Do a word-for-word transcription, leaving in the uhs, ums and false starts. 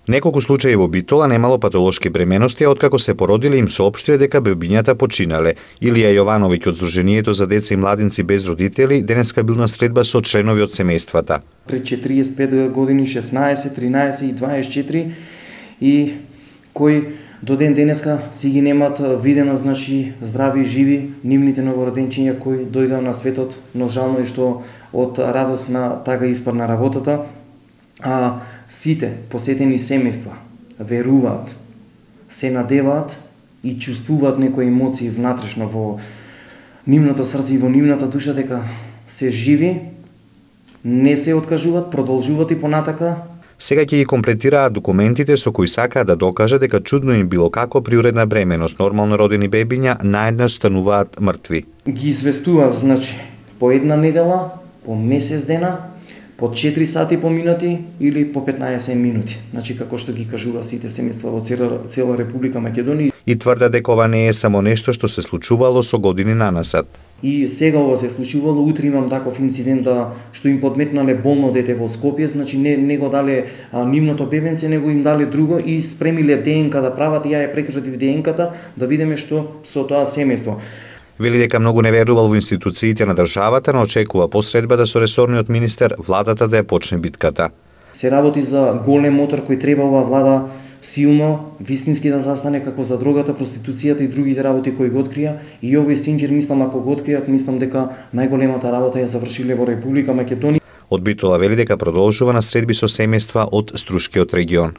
Неколку случаи во Битола немало патолошки бременности, а откако се породиле им соопштиле дека бебињата починале. Илија Јовановиќ од Сдруженијето за деца и младинци без родители денеска бил на средба со членови од семејствата. Пред четириесет и пет години, шеснаесет, тринаесет и дваесет и четири и кои до ден денеска си ги немат видено, значи здрави и живи нивните новороденчиња кои дојдоа на светот, но жално и што од радост на тага испадна работата. А сите посетени семејства веруваат, се надеваат и чувствуваат некои емоции внатрешно во нивното срце и во нивната душа дека се живи, не се откажуваат, продолжуваат и понатака. Сега ќе ги комплетираат документите со кои сакаат да докажат дека чудно им било како при уредна бременост нормално родени бебиња наеднаш стануваат мртви. Ги известуваат, значи, по една недела, по месец дена, по четири сати по минути или по петнаесет минути. Значи како што ги кажува сите семејства во цела, цела Република Македонија. И тврда дека ова не е само нешто што се случувало со години нанасад. И сега ова се случувало, утре имам таков инцидент да што им подметнале болно дете во Скопје, значи не, не го дале а, нивното бебенце, него им дале друго и спремиле ДНК да прават и ја ја прекратив ДНК-та да видиме што со тоа семејство. Вели дека многу не верувал во институциите на државата, но очекува посредба да со ресорниот министер владата да ја почне битката. Се работи за голем мотор кој треба ова влада силно, вистински да застане како за дрогата, проституцијата и другите работи кои го открија. И овој синџир, мислам, ако го откријат, мислам дека најголемата работа ја завршиле во Република Македонија. Од Битола вели дека продолжува на средби со семејства од Струшкиот регион.